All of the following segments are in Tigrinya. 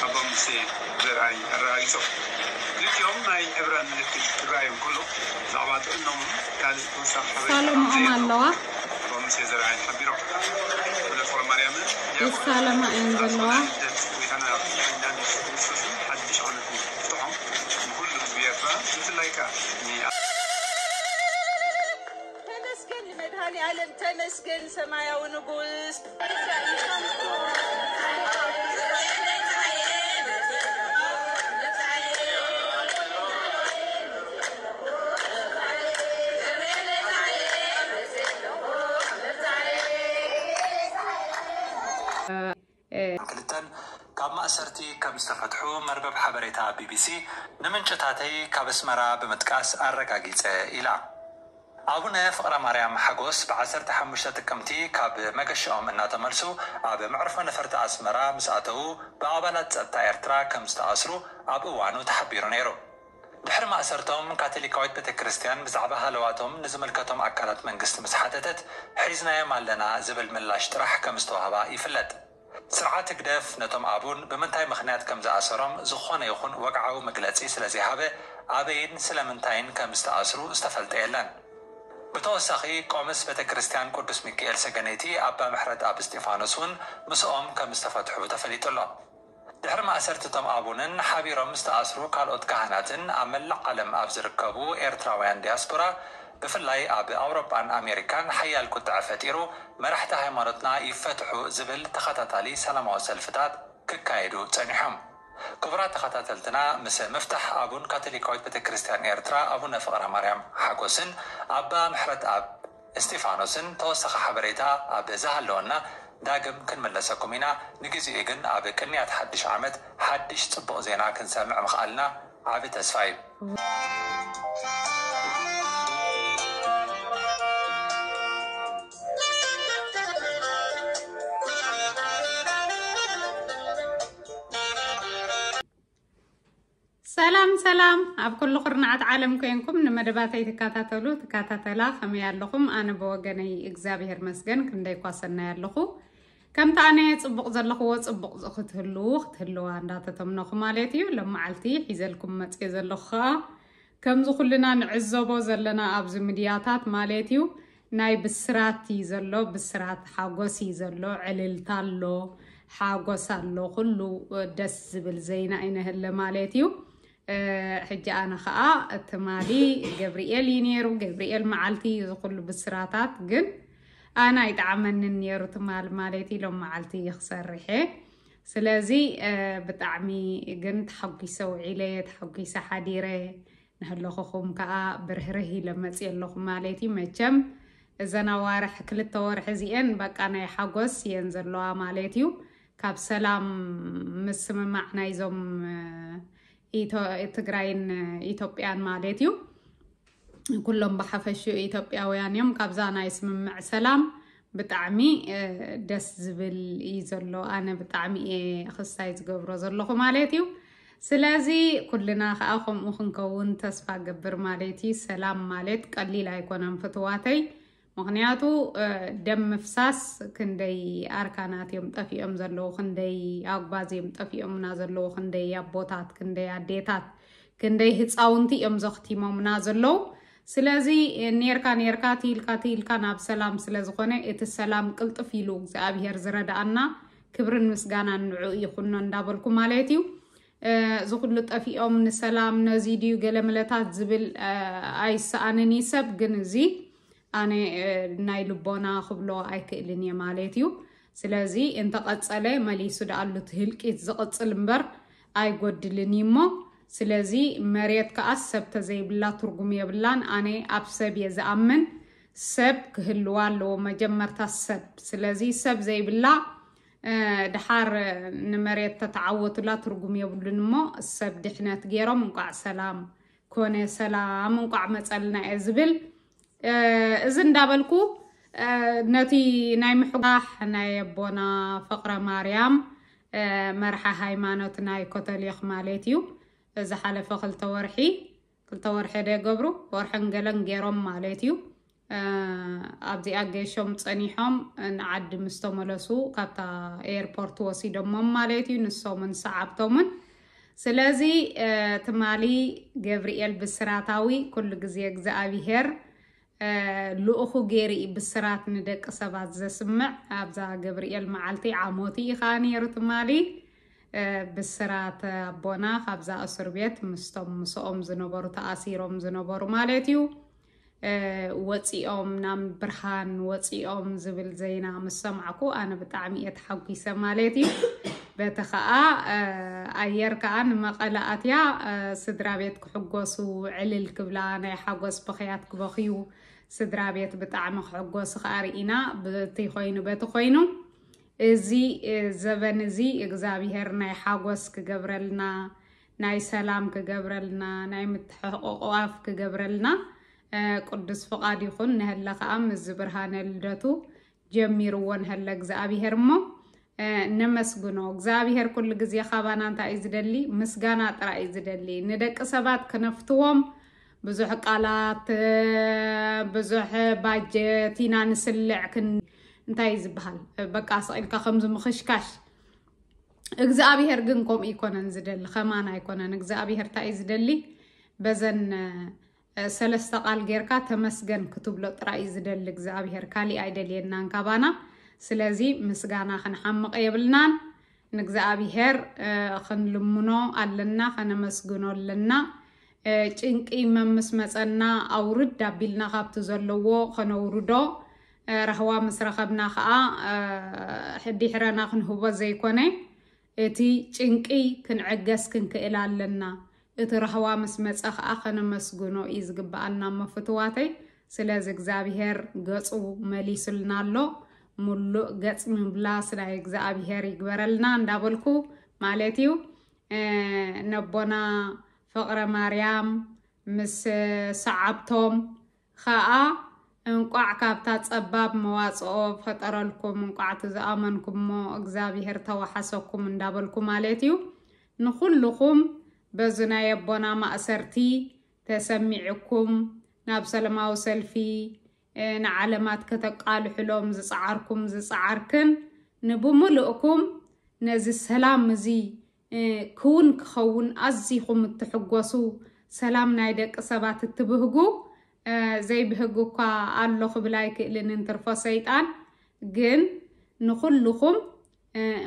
ኣባ ሙሴ ዘርኣይ ኣረጋጊጾም። ክልቲኦም ናይ ዕብራን ምልክት ክረኣዮም ከሎ ብዛዕባ ጥዕኖምን ካልእ ተወሳኺ ሓበሬታ ሳሎምኦም ከም ዘየለዎም ኣለዋ። ኣባ ሙሴ ዘርኣይ ሓቢሮም። ኣቡነ ፍቕረ ማርያምን ዲያቆን ይሳለማ እየን ዘለዋ። ልደት ጎይታና መድሓኒና ኢየሱስ ክርስቶስን ሓድሽ ዓመትን ይፍትሖም። ንኹሉ ህዝቢ ኤርትራ ብፍላይ ከኣ ን- ተመስገን ንመድኃኔ ዓለም፣ ተመስገን ሰማያዊ ንጉስ። ክልተን ካብ ማእሰርቲ ከም ዝተፈትሑ መርበብ ሓበሬታ ቢቢሲ ንምንጭታተይ ካብ ኣስመራ ብምጥቃስ ኣረጋጊጸ ኢላ። ኣቡነ ፍቕረ ማርያም ሓጎስ ብ ዓሰርተ ሓሙሽተ ጥቅምቲ ካብ መገሻኦም እናተመልሱ ኣብ መዕርፎ ነፈርቲ ኣስመራ ምስ ኣተዉ ብኣባላት ጸጥታ ኤርትራ ከም ዝተኣስሩ ኣብ እዋኑ ተሓቢሩ ነይሩ። ድሕሪ ማእሰርቶም ካቶሊካዊት ቤተ ክርስቲያን ብዛዕባ ሃለዋቶም ንዝምልከቶም ኣካላት መንግስቲ ምስ ሓተተት ሒዝናዮም ኣለና ዝብል ምላሽ ጥራሕ ከም ዝተዋህባ ይፍለጥ። ስርዓት ህግደፍ ነቶም ኣቡን ብምንታይ ምኽንያት ከም ዝኣሰሮም ዝኾነ ይኹን ወግዓዊ መግለጺ ስለ ዘይሃበ ኣበይን ስለምንታይን ከም ዝተኣስሩ ዝተፈልጠ የለን። ብተወሳኺ ቆምስ ቤተ ክርስቲያን ቅዱስ ሚካኤል ሰገነይቲ ኣባ ምሕረት ኣብ እስጢፋኖስ እውን ምስኦም ከም ዝተፈትሑ ተፈሊጡ ኣሎ። ድሕሪ ማእሰርቲ እቶም ኣቡንን ሓቢሮም ዝተኣስሩ ካልኦት ካህናትን ኣብ መላእ ዓለም ኣብ ዝርከቡ ኤርትራውያን ዲያስፖራ ብፍላይ ኣብ ኣውሮጳን ኣሜሪካን ሓያል ቁጥዐ ፈጢሩ መራሕቲ ሃይማኖትና ይፈትሑ ዝብል ተኸታታሊ ሰላማዊ ሰልፍታት ክካየዱ ጸኒሖም። ክቡራት ተኸታተልትና ምስ ምፍታሕ ኣቡን ካቶሊካዊት ቤተ ክርስቲያን ኤርትራ ኣቡነ ፍቕረ ማርያም ሓጎስን ኣባ ምሕረት ኣብ እስጢፋኖስን ተወሳኺ ሓበሬታ ኣብ ዝሃለወና ዳግም ክንምለሰኩም ኢና። ንግዚኡ ግን ኣብ ቅንያት ሓድሽ ዓመት ሓድሽ ጽቡቕ ዜና ክንሰምዕ ምኽኣልና ዓቢ ተስፋ እዩ። ሰላም ሰላም፣ ኣብ ኩሉ ኩርናዓት ዓለም ኮይንኩም ንመደባተይ ትከታተሉ ትከታተላ ከመይ ኣለኹም? ኣነ ብወገነይ እግዚኣብሔር መስገን ክንደይ ኳ ሰናይ ኣለኹ። ከምቲ ኣነ ጽቡቕ ዘለኽዎ ጽቡቕ ክትህልዉ ክትህልዋ እንዳተተምነኹ ማለት እዩ። ሎመዓልቲ ሒዘልኩም መጽየ ዘለኹ ኸኣ ከምዚ ኩልና ንዕዘቦ ዘለና ኣብዚ ሚድያታት ማለት እዩ ናይ ብስራት እዩ ዘሎ፣ ብስራት ሓጎስ እዩ ዘሎ፣ ዕልልታ ኣሎ፣ ሓጎስ ኣሎ፣ ኩሉ ደስ ዝብል ዜና እዩ ንህለ ማለት እዩ። ሕጂ ኣነ ኸኣ ትማሊ ገብርኤል እዩ ነይሩ። ገብርኤል መዓልቲ እዩ ዝኹሉ ብስራታት፣ ግን ኣነ ኣይጠዓመንን ነይሩ ትማሊ ማለት እዩ። ሎም መዓልቲ እዩ ክሰርሐ። ስለዚ ብጣዕሚ ግን ተሓጒሰ ውዒለ፣ ተሓጒሰ ሓዲረ። ንህለኹኹም ከኣ ብርህርህ ኢለ መፅየ ኣለኹ ማለት እዩ። መቸም እዘን ኣዋርሕ ክልተ ወርሒ እዚኤን በቃ ናይ ሓጎስ እየን ዘለዋ ማለት እዩ። ካብ ሰላም ምስምማዕ ናይዞም ትግራይን ኢትዮጵያን ማለት እዩ። ኩሎም ብሓፈሽኡ ኢትዮጵያውያን እዮም። ካብዛ ናይ ስምምዕ ሰላም ብጣዕሚ ደስ ዝብል እዩ ዘሎ። ኣነ ብጣዕሚ እየ ክሳይ ዝገብሮ ዘለኹ ማለት እዩ። ስለዚ ኩልና ከዓ ከምኡ ክንከውን ተስፋ ገብር ማለት እዩ። ሰላም ማለት ቀሊል ኣይኮነን ፍትዋተይ። ምኽንያቱ ደም ምፍሳስ ክንደይ ኣርካናት እዮም ጠፊኦም ዘለዉ፣ ክንደይ ኣጉባዝ እዮም ጠፊኦምና ዘለዉ፣ ክንደይ ኣቦታት፣ ክንደይ ኣዴታት፣ ክንደይ ህፃውንቲ እዮም ዘኽቲሞምና ዘለዉ። ስለዚ ኔርካ ኔርካ ትይልካ ትይልካ ናብ ሰላም ስለ ዝኾነ እቲ ሰላም ቅልጥፍ ኢሉ እግዚኣብሔር ዝረድኣና ክብርን ምስጋናን ንዑ ይኹኖ እንዳበልኩ ማለት እዩ። እዚ ኩሉ ጠፊኦም ንሰላም ነዚ ድዩ ገለመለታት ዝብል ኣይሰኣንን እዩ ሰብ፣ ግን እዚ ኣነ ናይ ልቦና ክብሎ ኣይክእልን እየ ማለት እዩ። ስለዚ እንተቐጸለ መሊሱ ደኣሉ እቲ ህልቂት ዝቕጽል እምበር ኣይጎድልን እዩ እሞ፣ ስለዚ መሬት ከኣ ሰብ ተዘይብላ ትርጉም የብላን። ኣነ ኣብ ሰብ እየ ዝኣምን። ሰብ ክህልዋ ኣለዎ መጀመርታ ሰብ። ስለዚ ሰብ ዘይብላ ድሓር ንመሬት ተተዓወቱላ ትርጉም የብሉን እሞ፣ ሰብ ድሕነት ገይሮም እንቋዕ ሰላም ኮነ፣ ሰላም እንቋዕ መጸልና እየ ዝብል። እዚ እንዳበልኩ ነቲ ናይ ምሕጓሕ ናይ ኣቦና ፍቕረ ማርያም መርሓ ሃይማኖት ናይ ኮቶሊኽ ማለት እዩ። ዝሓለፈ ክልተ ወርሒ ክልተ ወርሒ ዶ ይገብሩ ወርሕን ገለን ገይሮም ማለት እዩ። ኣብዚኣ ገሾም ጸኒሖም ንዓዲ ምስ ተመለሱ ካብታ ኤርፖርት ወሲዶሞም ማለት እዩ፣ ንሶምን ሰዓብቶምን። ስለዚ ትማሊ ገብርኤል ብስራታዊ ኩሉ ግዜ እግዚኣብሄር ልኡኹ ገይሩ እዩ ብስራት ንደቂ ሰባት ዘስምዕ። ኣብዛ ገብርኤል መዓልቲ ዓሞቲ እዩ ከዓ ነይሩ ትማሊ። ብስራት ኣቦና ካብዛ እስር ቤት ምስቶም ምስኦም ዝነበሩ ተኣሲሮም ዝነበሩ ማለት እዩ። ወፂኦም ናብ ብርሃን ወፂኦም ዝብል ዜና ምስ ሰማዕኩ ኣነ ብጣዕሚ እየ ተሓጒሰ ማለት እዩ። በቲ ከዓ ኣየር ከዓ ንመቐለ ኣትያ ስድራ ቤት ክሕጎሱ ዕልል ክብላ ናይ ሓጎስ ብኽያት ክበኽዩ ስድራ ቤት ብጣዕሚ ክሕጎሱ ከዓ ርኢና። በቲ ኮይኑ በቲ ኮይኑ እዚ ዘበን እዚ እግዚኣብሄር ናይ ሓጎስ ክገብረልና፣ ናይ ሰላም ክገብረልና፣ ናይ ምትሕቕቋፍ ክገብረልና ቅዱስ ፍቓድ ይኹን። ንሀለ ከዓ ምስ ብርሃነ ልደቱ ጀሚርዎ ንሀለ እግዚኣብሄር እሞ ነመስግኖ። እግዚኣብሄር ኩሉ ግዜ ካባና እንታይ እዩ ዝደሊ? ምስጋና ጥራይ እዩ ዝደሊ። ንደቂ ሰባት ክነፍትዎም ብዙሕ ቃላት፣ ብዙሕ ባጀት ኢና ንስልዕ ክን እንታይ እዩ ዝበሃል? በቃ ስቕ ኢልካ ከምዚ ምኽሽካሽ። እግዚኣብሄር ግን ከምኡ ኣይኮነን ዝደሊ፣ ከማን ኣይኮነን። እግዚኣብሄር እንታይ እዩ ዝደሊ? በዘን ሰለስተ ቃል ጌርካ ተመስገን ክትብሎ ጥራይ እዩ ዝደሊ እግዚኣብሄር፣ ካሊእ ኣይደልየናን ካባና። ስለዚ ምስጋና ክንሓምቕ የብልናን። ንእግዚኣብሄር ክንልምኖ ኣለና፣ ከነመስግኖ ኣለና። ጭንቂ መምስ መፀና ኣውርድ ኣቢልና ካብቲ ዘለዎ ከነውርዶ፣ ራህዋ ምስ ረኸብና ከዓ ሕዲሕረና ክንህቦ ዘይኮነ እቲ ጭንቂ ክንዕገስ ክንክእል ኣለና። እቲ ራህዋ ምስ መፀ ከዓ ከነመስግኖ እዩ ዝግበኣና እሞ ፍትዋተይ። ስለዚ እግዚኣብሄር ገፁ መሊሱልና ኣሎ። ሙሉእ ገፅ ምምላስ ናይ እግዚኣብሄር ይግበረልና እንዳበልኩ ማለት እዩ። ነቦና ፍቕረ ማርያም ምስ ሰዓብቶም ኸኣ እንቋዕ ካብታ ጸባብ መዋጽኦ ፈጠረልኩም፣ እንቋዕ እቲ ዝኣመንኩሞ እግዚኣብሄር ተዋሓሰኩም እንዳበልኩ ማለት እዩ። ንኹልኹም በዚ ናይ ኣቦና ማእሰርቲ ተሰሚዕኩም ናብ ሰለማዊ ሰልፊ ንዓለማት ከተቃልሕሎም ዝጸዓርኩም ዝጸዓርክን ንብምልእኩም ነዚ ሰላም እዚ ክውን ክኸውን ኣዚኹም እትሕጎሱ፣ ሰላም ናይ ደቂ ሰባት እትብህጉ፣ ዘይብህግ እኳ ኣሎ ክብል ኣይክእልን እንትርፎ ሰይጣን። ግን ንኹልኹም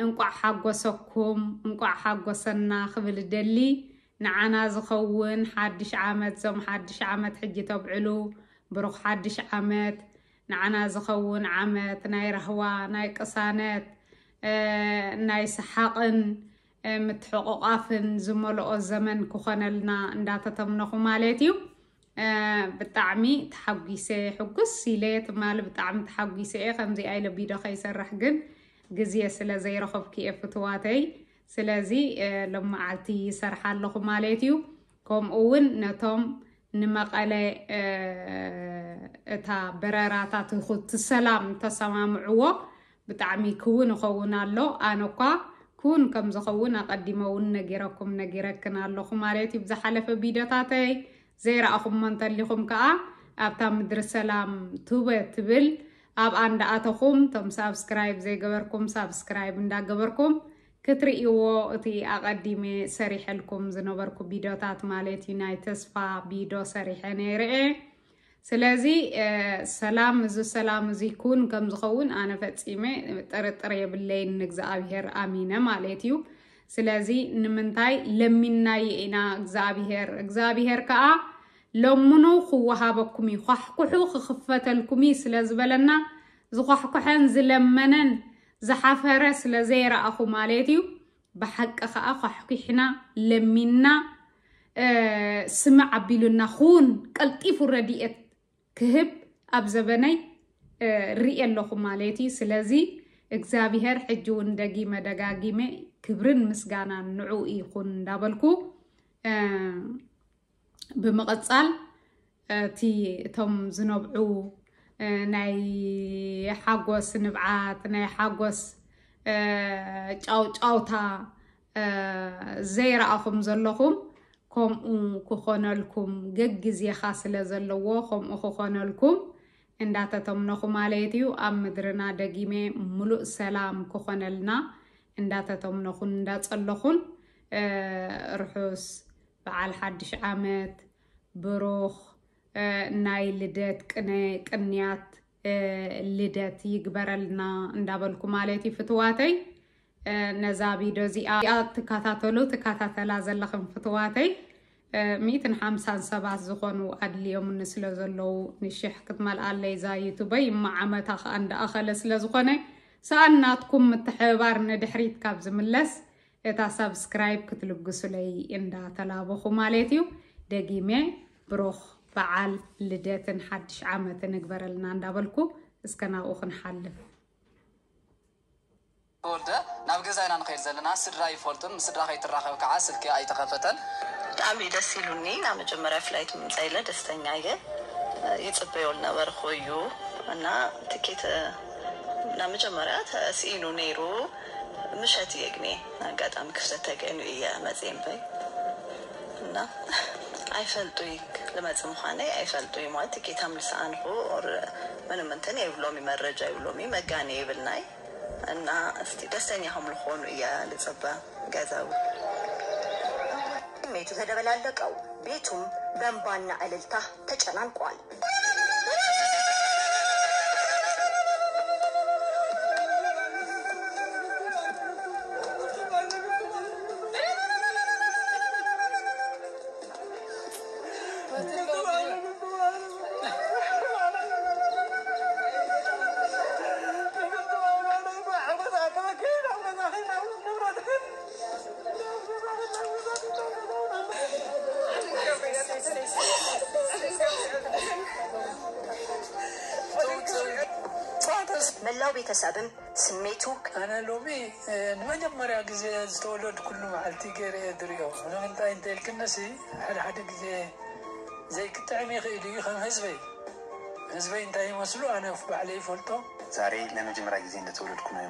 እንቋዕ ሓጎሰኩም፣ እንቋዕ ሓጎሰና ክብል እደሊ። ንዓና ዝኸውን ሓድሽ ዓመት፣ ዞም ሓድሽ ዓመት ሕጂ ተብዕሉ፣ ብሩኽ ሓድሽ ዓመት። ንዓና ዝኸውን ዓመት ናይ ራህዋ፣ ናይ ቅሳነት፣ ናይ ሰሓቕን ምትሕቑቓፍን ዝመልኦ ዘመን ክኾነልና እንዳተተምነኹ ማለት እዩ። ብጣዕሚ ተሓጒሰ፣ ሕጉስ ኢለ ትማሊ ብጣዕሚ ተሓጒሰ እየ። ከምዚኣ ኢለ ቪድዮ ከይሰርሕ ግን ግዜ ስለ ዘይረኸብኩ እየ ፍትዋተይ። ስለዚ ሎመዓልቲ ይሰርሕ ኣለኹ ማለት እዩ። ከምኡ እውን ነቶም ንመቐለ እታ በረራታት እቲ ሰላም ተሰማምዕዎ ብጣዕሚ ክውን ይኸውን ኣሎ። ኣነ እኳ ክውን ከም ዝኸውን ኣቐዲመ እውን ነጊረኩም ነጊረክን ኣለኹ ማለት እዩ። ብዝሓለፈ ቪድዮታተይ ዘይረኣኹሞ እንተሊኹም ከዓ ኣብታ ምድሪ ሰላም ቱበ ትብል ኣብኣ እንዳኣተኹም ቶም ሳብስክራይብ ዘይገበርኩም ሳብስክራይብ እንዳገበርኩም ክትርእይዎ እቲ ኣቐዲመ ሰሪሐልኩም ዝነበርኩ ቪድዮታት ማለት እዩ። ናይ ተስፋ ቪድዮ ሰሪሐ ነይረ እየ። ስለዚ ሰላም እዚ ሰላም እዚ ኩን ከም ዝኸውን ኣነ ፈጺመ ጥርጥር የብለይን፣ ንእግዚኣብሔር ኣሚነ ማለት እዩ። ስለዚ ንምንታይ ለሚናዮ ኢና እግዚኣብሔር እግዚኣብሔር ከዓ ለምኑ ክወሃበኩም እዩ፣ ኳሕኩሑ ክኽፈተልኩም እዩ ስለ ዝበለና ዝኳሕኩሐን ዝለመነን ዝሓፈረ ስለ ዘይረኣኹ ማለት እዩ። ብሓቂ ከዓ ኳሕኩሕና ለሚንና ስምዕ ኣቢሉና ኩን ቀልጢፉ ረድኤት ክህብ ኣብ ዘበነይ ርኢ ኣለኹ ማለት እዩ። ስለዚ እግዚኣብሔር ሕጂ እውን ደጊመ ደጋጊመ ክብርን ምስጋናን ንዑ ይኹን እንዳበልኩ ብምቕጻል እቲ እቶም ዝነብዑ ናይ ሓጎስ ንብዓት ናይ ሓጎስ ጫውጫውታ ዘይረኣኹም ዘለኹም ከምኡ ክኾነልኩም ገግዜኻ ስለ ዘለዎ ከምኡ ክኾነልኩም እንዳተተምነኹ ማለት እዩ። ኣብ ምድርና ደጊመ ምሉእ ሰላም ክኾነልና እንዳተተምነኹን እንዳጸለኹን፣ እ፣ ርሑስ በዓል ሓድሽ ዓመት፣ ብሩኽ፣ እ፣ ናይ ልደት ቅነ-፣ ቅንያት፣ እ፣ ልደት ይግበረልና እንዳበልኩ ማለት እዩ ፍትዋተይ። እ፣ ነዛ ቪድዮ እዚኣ ትከታተሉ፣ ትከታተላ ዘለኽን ፍትዋተይ፣ እ፣ ሚእትን ሓምሳን ሰባት ዝኾኑ ኣድልዮምኒ ስለ ዘለዉ፣ ንሽሕ ክትመልኣለይ እዛ ዩቱበይ፣ እማ ዓመታ ከኣ እንዳኣኸለ ስለ ዝኾነ፣ ሰኣን ናትኩም ምትሕብባር ንድሕሪት ካብ ዝምለስ፣ እታ ሳብስክራይብ ክትልግሱለይ እንዳተላበኹ ማለት እዩ። ደጊመ ብሩኽ በዓል ልደትን ሓድሽ ዓመትን እግበረልና እንዳበልኩ፣ እስከ ናብኡ ክንሓልፍ። ተወልደ፣ ናብ ገዛ ኢና ንኸይድ ዘለና። ስድራ ይፈልጡን፣ ምስ ስድራ ከይትራኸብ ከዓ ስልኪ ኣይተኸፈተን። ብጣዕሚ ደስ ኢሉኒ። ናብ መጀመርያ ፍላይት ምምፃእ ኢለ ደስተኛ እየ። ይፅበዮ ዝነበርኩ እዩ እና ትኬት ናብ መጀመርያ ተስኢኑ ነይሩ። ምሸት እየ ግኔ ኣጋጣሚ ክፍተት ተገይኑ እየ መፅየ እምበይ እና ኣይፈልጡይ ልመፅ ምዃነይ ኣይፈልጡይ ማለት ትኬት ኣምልሰኣንኹ ምንም እንትን የብሎሚ መረጃ የብሎሚ መጋኔ የብልናይ። እና እስቲ ደስተኛ ከም ልኾኑ እያ ልጽበ። ገዛዊ ስሜቱ ተደበላለቀው። ቤቱም በእንባና እልልታ ተጨናንቋል። መላው ቤተሰብም ስሜቱ ኣነ ሎሚ ንመጀመርያ ግዜ ዝተወለድኩሉ መዓልቲ ገይረ እየ ዝሪኦ። ንምንታይ እንተኢልክንሲ ሓደ ሓደ ግዜ ዘይክጥዕም ይኽእል እዩ ከም ህዝበይ። ህዝበይ እንታይ ይመስሉ ኣነ ባዕለይ ይፈልጦ። ዛሬ ለመጀመሪያ ጊዜ እንደተወለድኩ ነው።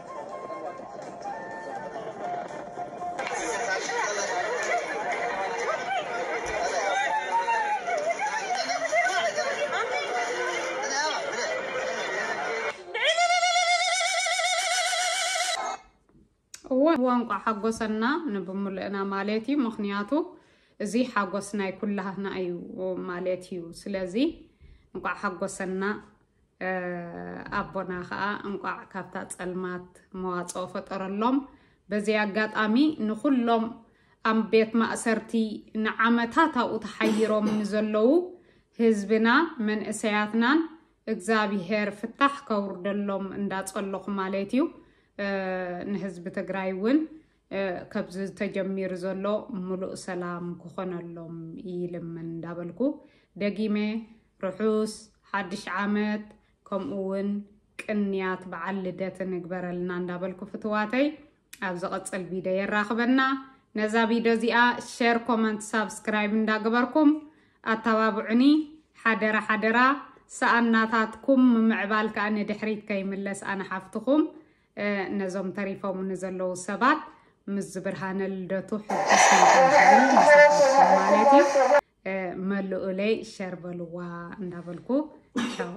እወ እንቋዕ ሓጎሰና ንብምልእና ማለት እዩ። ምኽንያቱ እዚ ሓጎስ ናይ ኩላህና እዩ ማለት እዩ። ስለዚ እንቋዕ ሓጎሰና። ኣቦና ኸዓ እንቋዕ ካብታ ጸልማት መዋጽኦ ፈጠረሎም። በዚ ኣጋጣሚ ንኹሎም ኣብ ቤት ማእሰርቲ ንዓመታት ኣብኡ ተሓይሮም ንዘለዉ ህዝብና መንእሰያትናን እግዚኣብሄር ፍታሕ ከውርደሎም እንዳጸለኹ ማለት እዩ። ንህዝቢ ትግራይ እውን ከብዚ ተጀሚሩ ዘሎ ምሉእ ሰላም ክኾነሎም ይልምን እንዳበልኩ ደጊመ ርሑስ ሓድሽ ዓመት ከምኡ እውን ቅንያት በዓል ልደት ንግበረልና እንዳበልኩ ፍትዋተይ ኣብ ዝቐጽል ቪድዮ የራኽበና። ነዛ ቪድዮ እዚኣ ሸር፣ ኮመንት፣ ሳብስክራይብ እንዳገበርኩም ኣተባብዑኒ ሓደራ ሓደራ። ሰኣናታትኩም ምምዕባል ከኣ ንድሕሪት ከይምለስ ኣነ ሓፍትኹም ነዞም ተሪፎም ንዘለዉ ሰባት ምስ ዝብርሃነ ልደቱ ሕጉስ ማለት እዩ። መልኡለይ ሸር በልዋ እንዳበልኩ ቻው።